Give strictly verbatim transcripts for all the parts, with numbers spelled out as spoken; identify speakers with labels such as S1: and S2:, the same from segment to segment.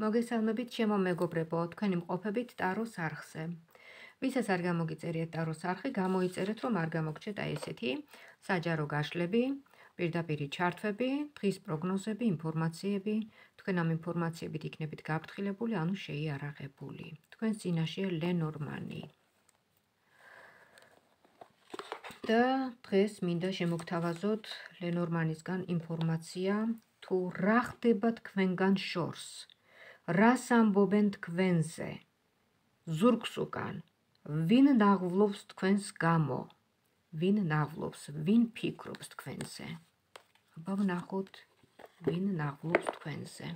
S1: მოგესალმებით, ჩემო მეგობრებო, თქვენი მყოფებით ტაროს არხზე. ვისაც არ გამოგიწერიეთ ტაროს არხი, გამოიწერეთ, რომ არ გამოგჩეთ აი ესეთი საჯარო გაშლები, პირდაპირი ჩართვები, დღის პროგნოზები, ინფორმაციები, თქვენ ამ ინფორმაციებით იქნებით გაფრთხილებული, ანუ შეიარაღებული. თქვენს წინაშეა ლენორმანი. და დღეს მინდა შემოგთავაზოთ ლენორმანისგან ინფორმაცია, თუ რა ხდება თქვენგან შორს. რას ამბობენ თქვენზე, ზურგს უკან, ვინ ნაღვლობს თქვენს გამო, ვინ ნაღვლობს, ვინ ფიქრობს თქვენზე. აბა ვნახოთ, ვინ ნაღვლობს თქვენზე.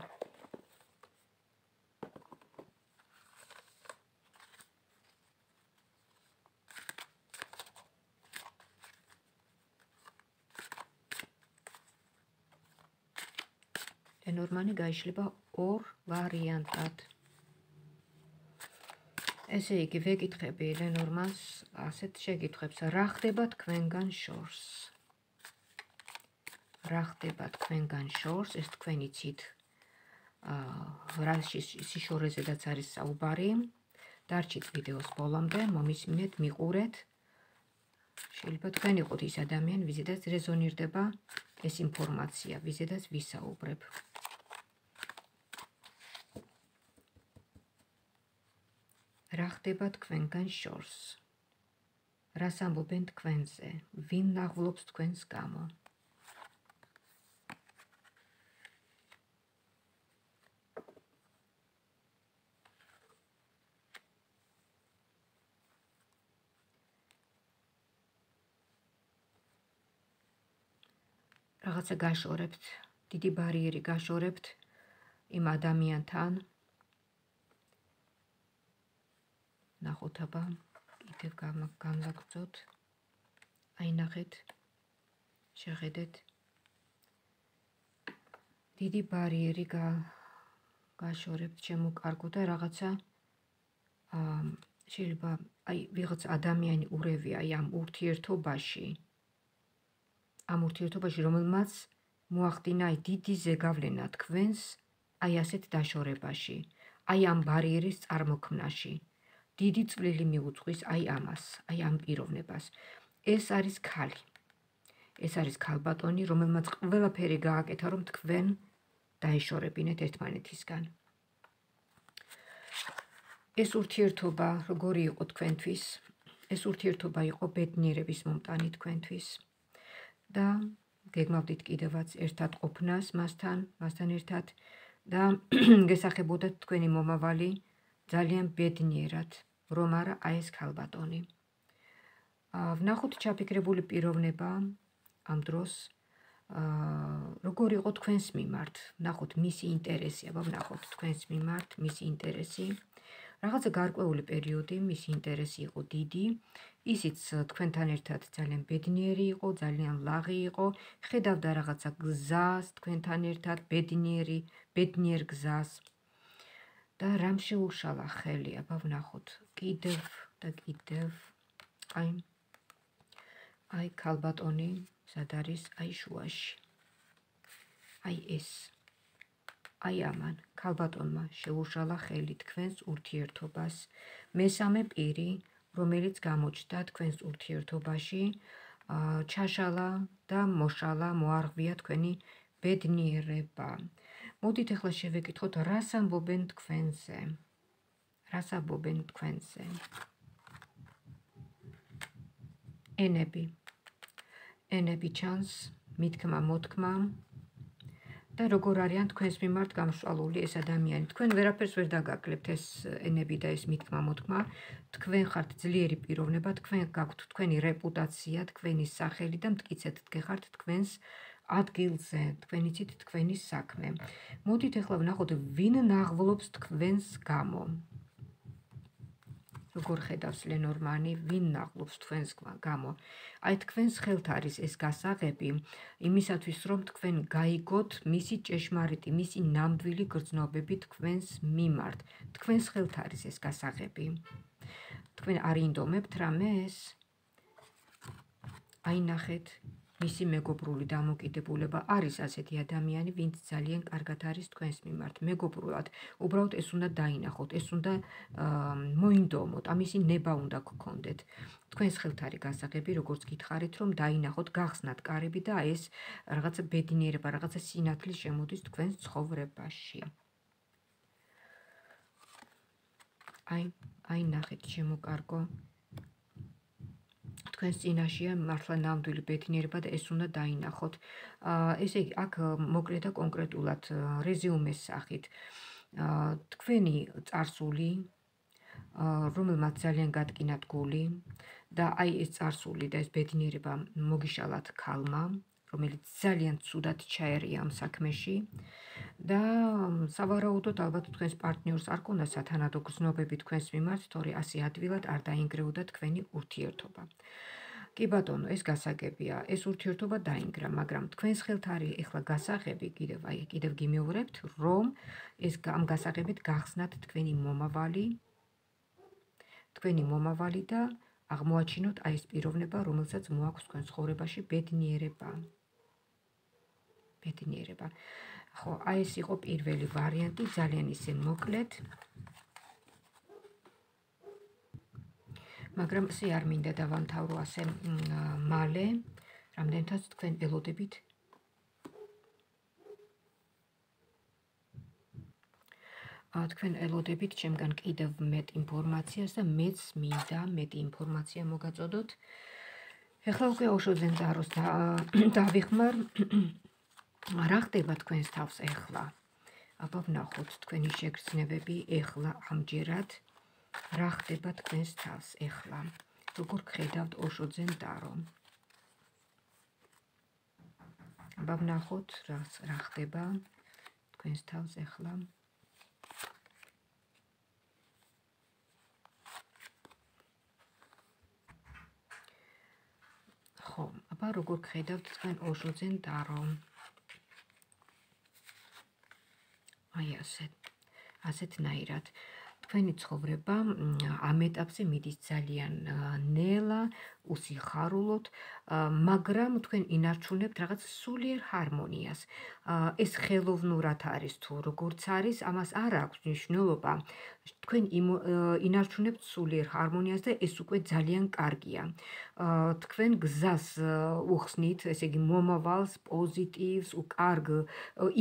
S1: ლენორმანი გაიშლება ორ ვარიანტად. ესე იგი, ვეკითხები ლენორმანს ასეთ შეკითხვებს, რა ხდება თქვენგან შორს. რა ხდება თქვენგან შორს, ეს თქვენ იცით, რა სიშორეზედაც არის საუბარი. დარჩით ვიდეოს ბოლომდე, მომისმინეთ, მიყურეთ. შეიძლება თქვენ იყოთ ის ადამიანი, ვიზედაც რეზონირდება ეს ინფორმაცია, ვიზედაც ვისაუბრებ. რა ხდება თქვენგან შორს. რას ამბობენ თქვენზე, ვინ ნაღვლობს თქვენს გამო. რაღაცა გაშორებთ, დიდი ბარიერი გაშორებთ იმ ადამიანთან. ნახოთ აბა, კიდევ განვაგრძოთ. აი ნახეთ, შეხედეთ. დიდი ბარიერი გაშორებთ, შემოკარგო და რაღაცა შეიძლება აი ვიღაც ადამიანი ურევია აი ამ ურთიერთობაში. ამ ურთიერთობაში, რომელმაც მოახდინა აი დიდი ზეგავლენა თქვენს აი ასეთ დაშორებაში, აი ამ ბარიერის წარმოქმნაში. დიდი წვლილი მიუძღვის აი ამას, აი ამ პიროვნებას. ეს არის ქალი. ეს არის ქალბატონი, რომელმაც ყველაფერი გააკეთა, რომ თქვენ დაეშორებინეთ ერთმანეთისგან. ეს ურთიერთობა როგორი იყო თქვენთვის? ეს ურთიერთობა იყო ბედნიერების მომტანი თქვენთვის. და გეგმავდით კიდევაც ერთად ყოფნას მასთან, მასთან ერთად და გესახებოდათ თქვენი მომავალი ძალიან ბედნიერად, რომ არა აი ეს ქალბატონი. ვნახოთ ჩაფიქრებული პიროვნება ამ დროს, როგორი იყო თქვენს მიმართ, ვნახოთ მისი ინტერესი, აბა ვნახოთ თქვენს მიმართ მისი ინტერესი. რაღაცა გარკვეული პერიოდი მისი ინტერესი იყო დიდი, ისიც თქვენთან ერთად ძალიან ბედნიერი იყო, ძალიან ლაღი იყო, ხედავდა რაღაცა გზას თქვენთან ერთად, ბედნიერი, ბედნიერ გზას. და რამ შეუშალა ხელი, აბა ვნახოთ, კიდევ და კიდევ, აი, აი ქალბატონი, სად არის, აი შუაში. აი ეს. აი ამან, ქალბატონმა შეუშალა ხელი თქვენს ურთიერთობას. მესამე პირი, რომელიც გამოჩნდა თქვენს ურთიერთობაში, ჩაშალა და მოშალა, მოარღვია თქვენი ბედნიერება. მოდით ახლა შევეკითხოთ, რას ამბობენ თქვენზე. რას ამბობენ თქვენზე. ენები. ენები ჩანს, მითქმა, მოთქმა. და როგორ არიან თქვენს მიმართ გამსვალული ეს ადამიანი. თქვენ ვერაფერს ვერ დაგაკლებთ ეს ენები და ეს მითქმა, მოთქმა. თქვენ ხართ ძლიერი პიროვნება, თქვენ გაქვთ თქვენი რეპუტაცია, თქვენი სახელი და მტკიცედ დგეხართ თქვენს ადგილზე, თქვენ იცით თქვენი საქმე. მოდით ახლა ვნახოთ, ვინ ნაღვლობს თქვენს გამო. როგორ ხედავს ლენორმანი, ვინ ნაღვლობს თქვენს გამო. აი თქვენს ხელთ არის ეს გასაღები, იმისათვის რომ თქვენ გაიგოთ მისი ჭეშმარიტი, მისი ნამდვილი გრძნობები თქვენს მიმართ. თქვენს ხელთ არის ეს გასაღები. თქვენ არ ინდომებთ რამეს? აი ნახეთ, მისი მეგობრული დამოკიდებულება არის ასეთი ადამიანი, ვინც ძალიან კარგად არის თქვენს მიმართ. მეგობრულად, უბრალოდ ეს უნდა დაინახოთ, ეს უნდა მოინდომოთ, ამისი ნება უნდა გქონდეთ. თქვენს ხელთ არის გასაღები, როგორც გითხარით, რომ დაინახოთ, გახსნათ კარები და ეს რაღაცა ბედნიერება, რაღაცა სინათლე შემოდის თქვენს ცხოვრებაში. აი, აი ნახეთ, შემოკარგო. თქვენს წინაშეა მართლა ნამდვილი ბედნიერება და ეს უნდა დაინახოთ. ესე იგი, აქ მოკლედ და კონკრეტულად რეზიუმეს სახით. თქვენი წარსული, რომელმაც ძალიან გადკინათ გული და აი ეს წარსული და ეს ბედნიერება მოგიშალათ ქალმა, რომელიც ძალიან ცუდად ჩაერია ამ საქმეში და სავარაუდოდ ალბათ თქვენს პარტნიორს არ ქონდა სათანადო გზნობები თქვენს მიმართ, თორე ასე ადვილად არ დაინგრეოდა თქვენი ურთიერთობა. კი ბატონო, ეს გასაგებია, ეს ურთიერთობა დაინგრა, მაგრამ თქვენს ხელთ არის ეხლა გასაღები, კიდევ აი კიდევ გიმეორებთ, რომ ეს ამ გასაღებით გახსნათ თქვენი მომავალი, თქვენი მომავალი და აღმოაჩინოთ აი ეს პიროვნება, რომელსაც მოაქვს თქვენ ცხოვრებაში ბედნიერება. ბედნიერება. ხო, აი ეს იყო პირველი ვარიანტი, ძალიან ისე მოკლედ. მაგრამ ესე არ მინდა დავამთავრო ასე მალე, რამდენთაც თქვენ ელოდებით. თქვენ ელოდებით ჩემგან კიდევ მეტ ინფორმაციას და მეც მინდა მეტი ინფორმაცია მოგაწოდოთ. ეხლა უკვე ოშოძენ ძაროს დავიხმარ. რა ხდება თქვენს თავს ეხლა? აბა ვნახოთ თქვენი შეგრძნებები ეხლა ამჯერად. რა ხდება თქვენს თავს ეხლა? როგორ გხედავთ ოშოძენ დარო? აბა ვნახოთ რა ხდება თქვენს თავს ეხლა. ხო, აბა როგორ გხედავთ თქვენ ოშოძენ დარო? აი ასეთ, ასეთნაირად. თქვენი ცხოვრება ამ ეტაპზე მიდის ძალიან ნელა, უსიხარულოდ, მაგრამ თქვენ ინარჩუნებთ რაღაც სულიერ ჰარმონიას. ეს ხელოვნურად არის თუ როგორც არის, ამას არ აქვს მნიშვნელობა. თქვენ ინარჩუნებთ სულიერ ჰარმონიას და ეს უკვე ძალიან კარგია. თქვენ გზას უხსნით, ესე იგი მომავალს, პოზიტივს, უკარგ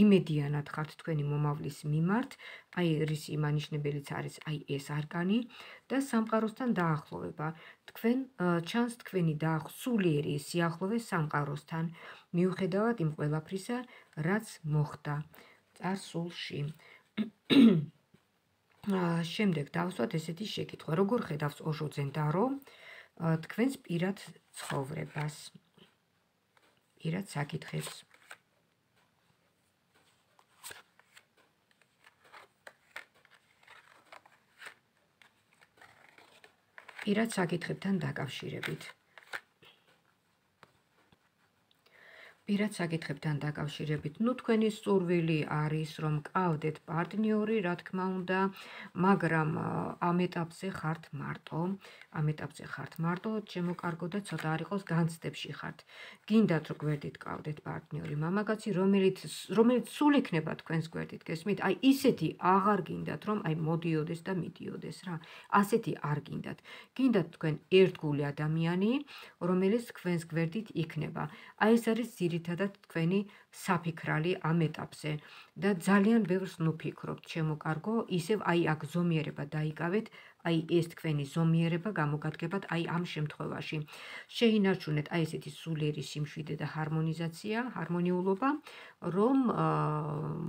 S1: იმედიანად ხართ თქვენი მომავლის მიმართ. აი რისი მანიშნებელიც არის აი ეს არკანი და სამყაროსთან დაახლოვება. თქვენ ჩანს თქვენი სულიერი სიახლოვე სამყაროსთან, მიუხედავად იმ ყველაფრისა, რაც მოხდა წარსულში. შემდეგ დავსვათ ესეთი შეკითხვა, როგორ ხედავს ოშოძენ დარო თქვენს პირად ცხოვრებას, პირად საკითხებს. პირად საკითხებთან დაკავშირებით. პირად საკითხებთან დაკავშირებით, ნუ თქვენი სურვილი არის, რომ გყავდეთ პარტნიორი, რა თქმა უნდა, მაგრამ ამ ეტაპზე ხართ მარტო, ამ ეტაპზე ხართ მარტო, შემოკარგო და ცოტა არ იყოს განცდებში ხართ. გინდათ რომ გვერდით გყავდეთ პარტნიორი, მამაკაცი, რომელიც რომელიც სულ იქნება თქვენს გვერდით, გესმით? აი ისეთი აღარ გინდათ, რომ აი მოდიოდეს და მიდიოდეს რა. ასეთი არ გინდათ. გინდათ თქვენ ერთგული ადამიანი, რომელიც თქვენს გვერდით იქნება. აი ეს არის ძირითადად თქვენი საფიქრალი ამ ეტაპზე და ძალიან ბევრს ნუფიქრობთ, შემოკარგო, ისევ აი აქ ზომიერება დაიკავეთ, აი ეს თქვენი ზომიერება გამოგადგებათ აი ამ შემთხვევაში. შეინარჩუნეთ აი ესეთი სულიერი სიმშვიდე და ჰარმონიზაცია, ჰარმონიულობა, რომ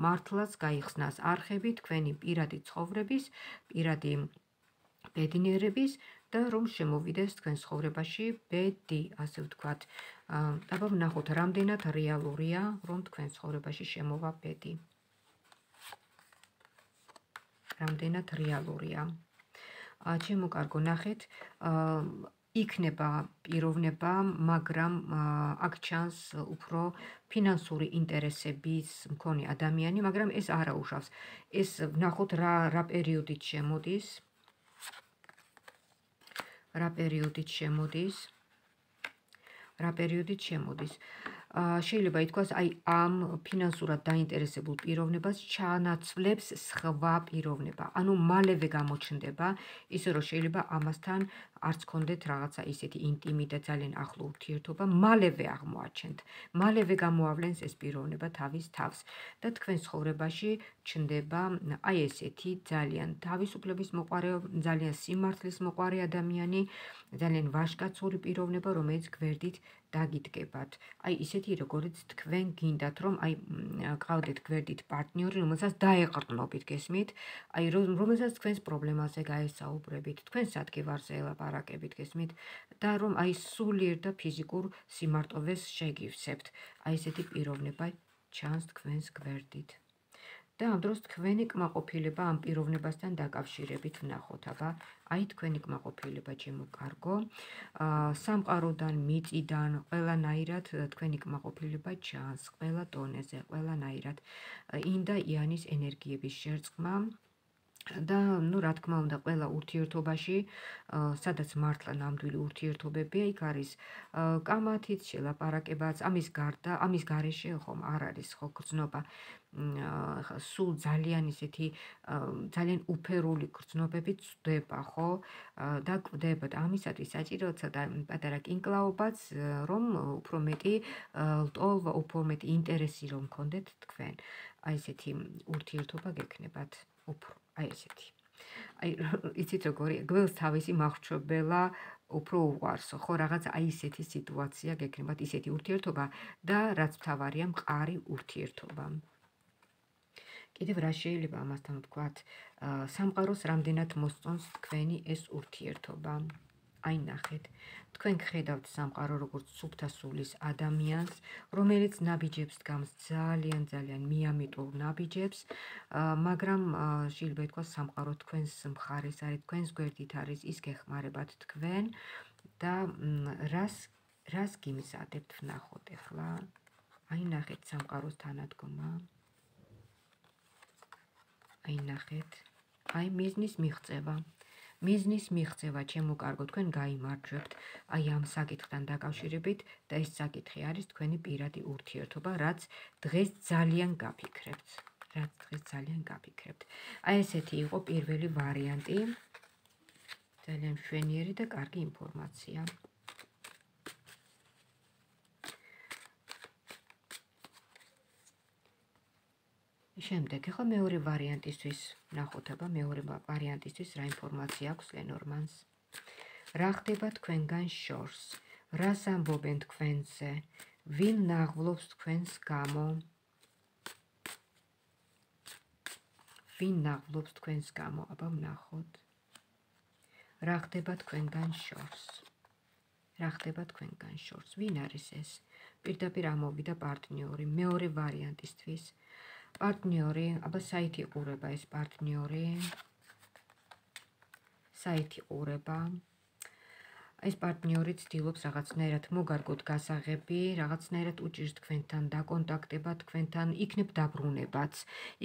S1: მართლაც გაიხსნას არხები თქვენი პირადი ცხოვრების, პირადი ბედნიერების და რომ შემოვიდეს თქვენ ცხოვრებაში ბედი, ასე ვთქვათ. აბა ვნახოთ, რამდენად რეალურია, რომ თქვენ ცხოვრებაში შემოვა ბედი. რამდენად რეალურია. შემოკარგო, ნახეთ, იქნება პიროვნება, მაგრამ აქ ჩანს უფრო ფინანსური ინტერესების მქონე ადამიანი, მაგრამ ეს არ აუშავს. ეს ვნახოთ რა რა პერიოდით შემოდის. რა პერიოდით შემოდის. რა პერიოდით შემოდის. შეიძლება ითქვას, აი ამ ფინანსურად დაინტერესებულ პიროვნებას ჩაანაცვლებს სხვა პიროვნება. ანუ მალევე გამოჩნდება, ისე რომ შეიძლება ამასთან არც კონდეთ რაღაცა ისეთი ინტიმი და ძალიან ახლო ურთიერთობა, მალევე აღმოაჩენთ. მალევე გამოავლენს ეს პიროვნება თავის თავს და თქვენ ცხოვრებაში ჩნდება აი ესეთი ძალიან თავისუფლების მოყარე, ძალიან სიმართლის მოყარე ადამიანი, ძალიან ვაჟკაცური პიროვნება, რომელიც გვერდით დაგიდგებათ. აი ისეთი როგორიც თქვენ გინდათ, რომ აი გყავდეთ გვერდით პარტნიორი, რომელსაც დაეყრდნობით, გესმით? აი რომელსაც თქვენს პრობლემაზე გაესაუბრებით, თქვენ სადგევარზე ელაპარაკებით, გესმით? და რომ აი სულიერ და ფიზიკურ სიმარტოვეს შეგივსებთ. აი ესეთი პიროვნება ჩანს თქვენს გვერდით. და ამ დროს თქვენი კმაყოფილება ამ პიროვნებასთან დაკავშირებით ვნახოთ, აბა აი თქვენი კმაყოფილება ჩემო კარგო, სამყაროდან, მიწიდან, ყველანაირად თქვენი კმაყოფილება ჩანს, ყველა დონეზე, ყველანაირად. ინდა იანის ენერგიების შერწყმა და ნუ რა თქმა უნდა ყველა ურთიერთობაში, სადაც მართლა ნამდვილი ურთიერთობებია, იქ არის კამათიც, შელაპარაკებაც, ამის გარდა, ამის გარეშე ხომ არ არის ხო გრძნობა. სულ ძალიან ისეთი ძალიან უფერული გრძნობები წვდება, ხო? და კვდება და ამისათვის საჭიროა ცოტა პატარა კინკლაობაც, რომ უფრო მეტი ლტოლვა, უფრო მეტი ინტერესი რომ გქონდეთ თქვენ. აი ესეთი ურთიერთობა გექნებათ უფრო, აი ესეთი. აი იცით როგორი, გველს თავისი მახრჩობელა უფრო უყვარსო, ხო, რაღაც აი ესეთი სიტუაცია გექნებათ, ისეთი ურთიერთობა და რაც მთავარია, მყარი ურთიერთობა. კიდევ რა შეიძლება ამასთან ვთქვათ, სამყაროს რამდენად მოსწონს თქვენი ეს ურთიერთობა. აი ნახეთ, თქვენ გხედავთ სამყარო როგორც სუფთა სულის ადამიანს, რომელიც ნაბიჯებს დგამს ძალიან ძალიან მიამიტულ ნაბიჯებს, მაგრამ შეიძლება ითქვას სამყარო თქვენს მხარეს არის, თქვენს გვერდით არის, ის გეხმარებათ თქვენ და რას რას გიმზადებთ ვნახოთ ახლა. აი ნახეთ სამყაროს თანადგომა. აი ნახეთ, აი მიზნის მიღწევა. მიზნის მიღწევა, ჩემო კარგო, თქვენ გაიმარჯვებთ აი ამ საკითხთან დაკავშირებით და ეს საკითხი არის თქვენი პირადი ურთიერთობა, რაც დღეს ძალიან გაფიქრებთ. რაც დღეს ძალიან გაფიქრებთ. აი ესეთი იყო პირველი ვარიანტი. ძალიან მშვენიერი და კარგი ინფორმაცია. შემდეგ, ახლა მეორე ვარიანტისთვის ნახოთ, აბა მეორე ვარიანტისთვის რა ინფორმაცია აქვს ლენორმანს. რა ხდება თქვენგან შორს? რას ამბობენ თქვენზე? ვინ ნაღვლობს თქვენს გამო? ვინ ნაღვლობს თქვენს გამო? აბა ვნახოთ. რა ხდება თქვენგან შორს? რა ხდება თქვენგან შორს? ვინ არის ეს? პირდაპირ ამოვიდა პარტნიორი, მეორე ვარიანტისთვის. პარტნიორი, აბა საით იყურება ეს პარტნიორი? საით იყურება? ეს პარტნიორი ცდილობს რაღაცნაირად მოგარგოთ გასაღები, რაღაცნაირად უჭირს თქვენთან დაკონტაქტება, თქვენთან იქნებ დაბრუნებაც,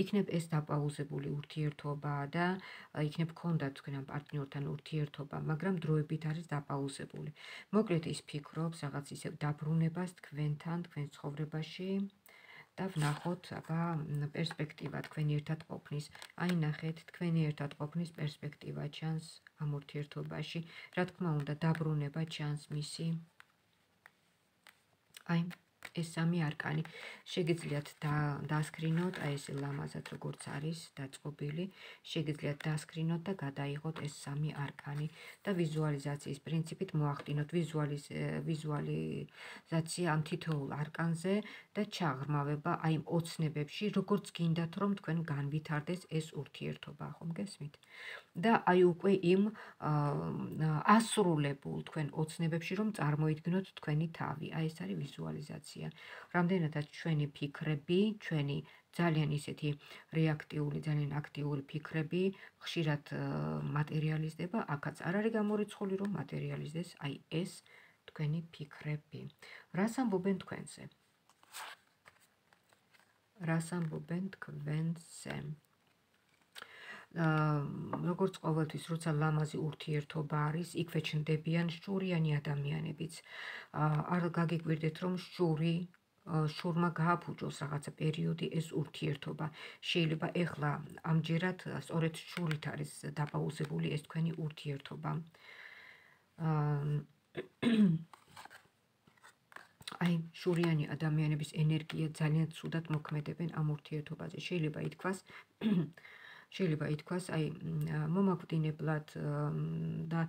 S1: იქნებ ეს დაპაუზებული ურთიერთობა და იქნებ გქონდათ თქვენ ამ პარტნიორთან ურთიერთობა, მაგრამ დროებით არის დაპაუზებული. მოკლედ ის ფიქრობს რაღაც ისევ დაბრუნებას თქვენთან, თქვენ ცხოვრებაში. და ვნახოთ, აბა პერსპექტივა თქვენი ერთად ყოფნის. აი ნახეთ, თქვენი ერთად ყოფნის პერსპექტივა ჩანს ამ ურთიერთობაში. რა თქმა უნდა, დაბრუნება ჩანს მისი. აი ეს სამი არკანი. შეგიძლიათ დასკრინოთ, აი ეს ლამაზად როგორც არის დაწყობილი, შეგიძლიათ დასკრინოთ და გადაიღოთ ეს სამი არკანი და ვიზუალიზაციის პრინციპით მოახდინოთ ვიზუალიზაცია ამ თითოეულ არკანზე და ჩაღრმავება აი ოცნებებში, როგორც გინდათ რომ თქვენ განვითარდეს ეს ურთიერთობა, ხომ გესმით? და აი უკვე იმ ასრულებულ თქვენ ოცნებებში რომ წარმოიდგინოთ თქვენი თავი. აი ეს არის ვიზუალიზაცია. რამდენადაც ჩვენი ფიქრები, ჩვენი ძალიან ისეთი რეაქტიული, ძალიან აქტიური ფიქრები ხშირად მატერიალიზდება, აქაც არ არის გამორიცხული რომ მატერიალიზდეს აი ეს თქვენი ფიქრები. რას ამბობენ თქვენზე? რას ამბობენ თქვენზე? როგორც ყოველთვის, როცა ლამაზი ურთიერთობა არის, იქვე ჩნდებიან შურიანი ადამიანებიც. არ გაგიკვირდეთ, რომ შური შურმა გააფუჭოს რაღაცა პერიოდი ეს ურთიერთობა. შეიძლება ეხლა ამჯერად სწორედ შურით არის დაპაუზებული ეს თქვენი ურთიერთობა. აი, შურიანი ადამიანების ენერგია ძალიან ცუდად მოქმედებენ ამ ურთიერთობაზე. შეიძლება ითქვას, შეიძლება ითქვას, აი, მომაკვდინებლად და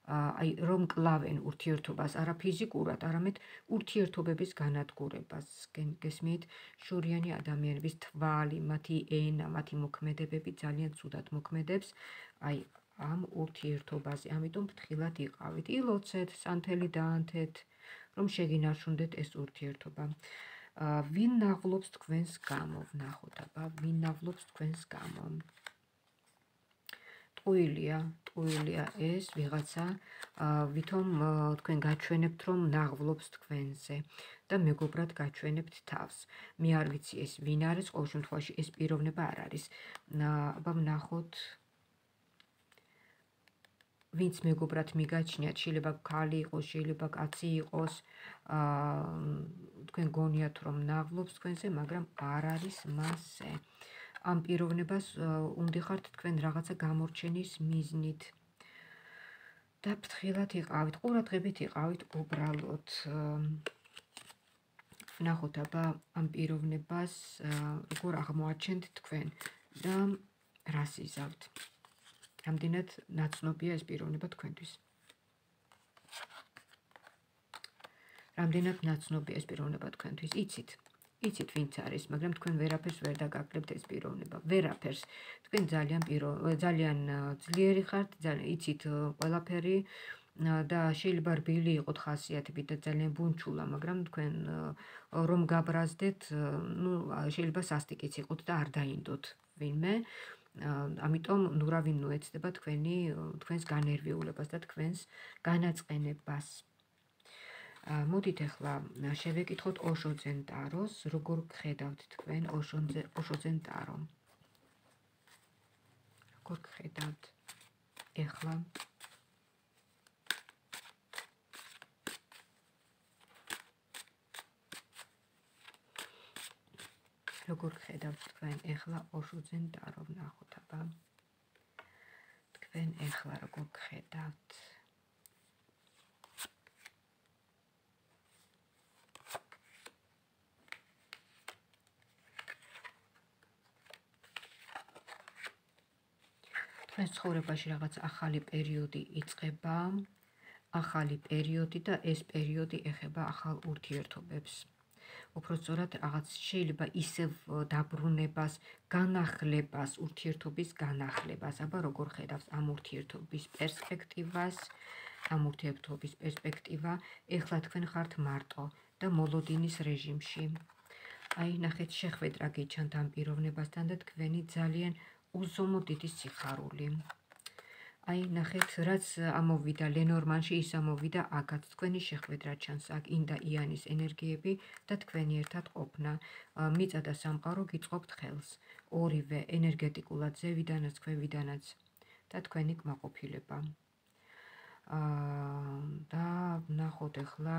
S1: აი, რომ კლავენ ურთიერთობას არა ფიზიკურად, არამედ ურთიერთობების განადგურებას. გესმით, შურიანი ადამიანების თვალი, მათი ენა, მათი მოქმედებები ძალიან ცუდად მოქმედებს აი ამ ურთიერთობაზე. ამიტომ ფრთხილად იყავით, ილოცეთ, სანთელი დაანთეთ, რომ შეგინარჩუნდეთ ეს ურთიერთობა. ვინ ნაღვლობს თქვენს გამო, ვნახოთ აბა, ვინ ნაღვლობს თქვენს გამო. ტყუილია, ტყუილია ეს ვიღაცა, ვითომ თქვენ გაჩვენებთ, რომ ნაღვლობს თქვენზე და მეგობრად გაჩვენებთ თავს. მე არ ვიცი ეს ვინ არის, ყოველ შემთხვევაში ეს პიროვნება არ არის. აბა ვნახოთ ვინც მეგობრად მიგაჩნიათ, შეიძლება ქალი იყოს, შეიძლება კაცი იყოს, თქვენ გონიათ, რომ ნაღვლობს თქვენზე, მაგრამ არ არის მასზე. ამ პიროვნებას უნდიხართ თქვენ რაღაცა გამორჩენის მიზნით და ფრთხილად იყავით, ყურადღებით იყავით უბრალოდ. ვნახოთ აბა ამ პიროვნებას როგორ აღმოაჩენთ თქვენ და რას იზავთ. რამდენად ნაცნობია ეს პიროვნება თქვენთვის. რამდენად ნაცნობია ეს პიროვნება თქვენთვის. იცით, იცით ვინც არის, მაგრამ თქვენ ვერაფერს ვერ დაგაკლებთ ეს პიროვნება. ვერაფერს. თქვენ ძალიან ძალიან ძლიერი ხართ, იცით ყველაფერი და შეიძლება რბილი იყოთ ხასიათებით და ძალიან ბუნჩულა, მაგრამ თქვენ რომ გაბრაზდეთ, ნუ შეიძლება სასტიკიც იყოთ და არ დაინდოთ ვინმე. ამიტომ ნურავინ ნუ ეცდება თქვენი თქვენს განერვიულებას და თქვენს განაწყენებას. მოდით ახლა შევეკითხოთ ოშოძენ ტაროს, როგორ გხედავთ თქვენ ოშოძენ ტარო. როგორ გხედავთ ახლა? როგორ გხედავთ თქვენ ახლა ოშოძენ ტარო, ვნახოთ აბა. თქვენ ახლა როგორ გხედავთ? თქვენ ცხოვრებაში რაღაც ახალი პერიოდი იწყება, ახალი პერიოდი და ეს პერიოდი ეხება ახალ ურთიერთობებს. უფრო სწორად რაღაც შეიძლება ისევ დაბრუნებას, განახლებას, ურთიერთობის განახლებას. აბა როგორ ხედავს ამ ურთიერთობის პერსპექტივას, ამ ურთიერთობის პერსპექტივა, ეხლა თქვენ ხართ მარტო და მოლოდინის რეჟიმში. აი, ნახეთ, შეხვედრა გიჩანთ ამ პიროვნებასთან და თქვენი ძალიან უზომო დიდი სიხარული. აი, ნახეთ, რაც ამოვიდა ლენორმანში, ის ამოვიდა აქაც. თქვენი შეხვედრა ჩანს აქ, ინდა იანის ენერგიები და თქვენი ერთად ყოფნა. მიწა და სამყარო გიწყობთ ხელს. ორივე ენერგეტიკულად ზევიდანაც, ქვევიდანაც და თქვენი კმაყოფილება. და ვნახოთ ახლა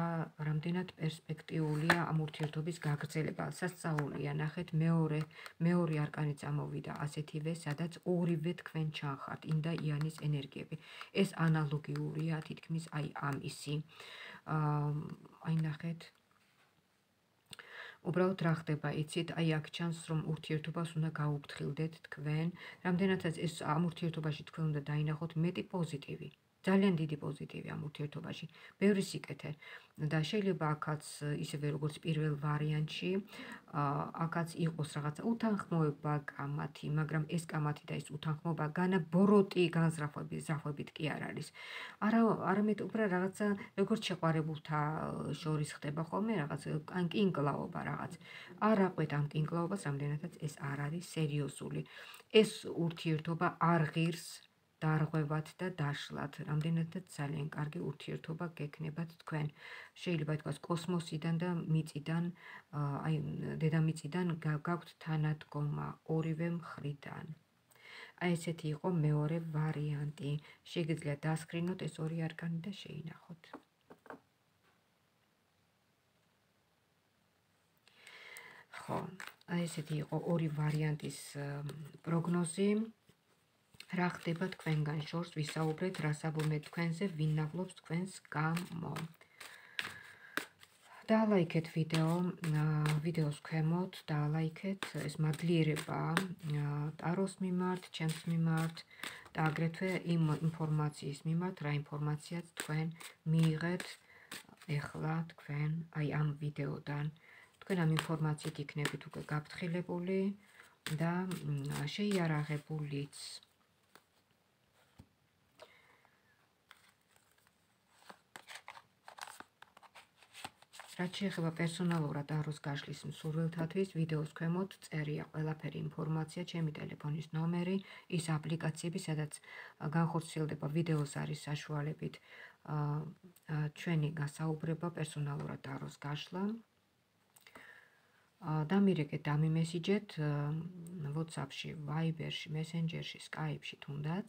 S1: რამდენად პერსპექტიულია ამ ურთიერთობის გაგრძელება. სასწაულია, ნახეთ, მეორე მეორე არკანიც ამოვიდა ასეთივე, სადაც ორივე თქვენ ჩანხართ, ინდა იანის ენერგიები. ეს ანალოგიურია თითქმის აი ამისი. აი, ნახეთ, უბრალოდ რა ხდება, იცით, აი აქ ჩანს, რომ ურთიერთობას უნდა გაუფრთხილდეთ თქვენ, რამდენადაც ეს ამ ურთიერთობაში თქვენ უნდა დაინახოთ მეტი პოზიტივი. ძალიან დიდი პოზიტივი ამ ურთიერთობაში, ბევრი სიკეთე და შეიძლება აქაც ისევე როგორც პირველ ვარიანტში, აქაც იყოს რაღაცა უთანხმოება კამათი, მაგრამ ეს კამათი და ეს უთანხმოება განა ბოროტი განზრახვებით კი არ არის. არა, არამედ უბრალოდ რაღაცა როგორც შეყვარებულთა შორის ხდება ხოლმე რაღაც კინკლაობა რაღაც. არ აყვეთ ამ კინკლაობას, რამდენადაც ეს არ არის სერიოზული. ეს ურთიერთობა არ ღირს დარღვევათ და დაშლათ, რამდენადაც ძალიან კარგი ურთიერთობა გექნებათ თქვენ. შეიძლება ითქვას კოსმოსიდან და მიწიდან, აი დედამიწიდან გაქვთ თანადგომა ორივე მხრიდან. აი ესეთი იყო მეორე ვარიანტი. შეგიძლიათ დასკრინოთ ეს ორი არკანი და შეინახოთ. ხო, აი ესეთი იყო ორი ვარიანტის პროგნოზი. რა ხდება თქვენგან შორს, ვისაუბრეთ, რა საბოლოო თქვენზე, ვინ ნაღლობს თქვენს გამო. დაალაიქეთ ვიდეო, ვიდეოს ქვემოთ, დაალაიქეთ, ეს მადლიერება ტაროს მიმართ, ჩემს მიმართ და აგრეთვე იმ ინფორმაციის მიმართ, რა ინფორმაციაც თქვენ მიიღეთ ეხლა თქვენ აი ამ ვიდეოდან. თქვენ ამ ინფორმაციით იქნებით უკვე გაფრთხილებული და შეიარაღებულიც. რაც შეეხება პერსონალურად ტაროს გაშლის მსურველთათვის, ვიდეოს ქვემოთ წერია ყველაფერი ინფორმაცია, ჩემი ტელეფონის ნომერი, ის აპლიკაციები, სადაც განხორციელდება ვიდეოს არის საშუალებით ჩვენი გასაუბრება პერსონალურად ტაროს გაშლა. დამირეკეთ, დამიმესიჯეთ WhatsApp-ში, Viber-ში, Messenger-ში, Skype-ში თუნდაც,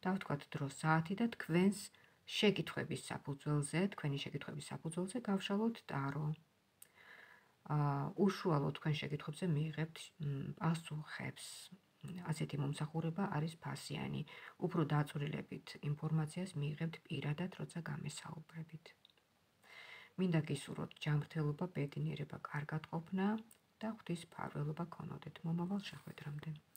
S1: დავთქვათ დრო საათი და თქვენს შეკითხვების საფუძველზე, თქვენი შეკითხვების საფუძველზე გავშალოთ ტარო. უშუალოდ თქვენ შეკითხვებზე მიიღებთ პასუხებს. ასეთი მომსახურება არის ფასიანი. უფრო დაწვრილებით ინფორმაციას მიიღებთ პირადად, როცა გამესაუბრებით. მინდა გისურვოთ ჯანმრთელობა, ბედნიერება, კარგად ყოფნა და ღვთის მფარველობა გქონოდეთ მომავალ შეხვედრამდე.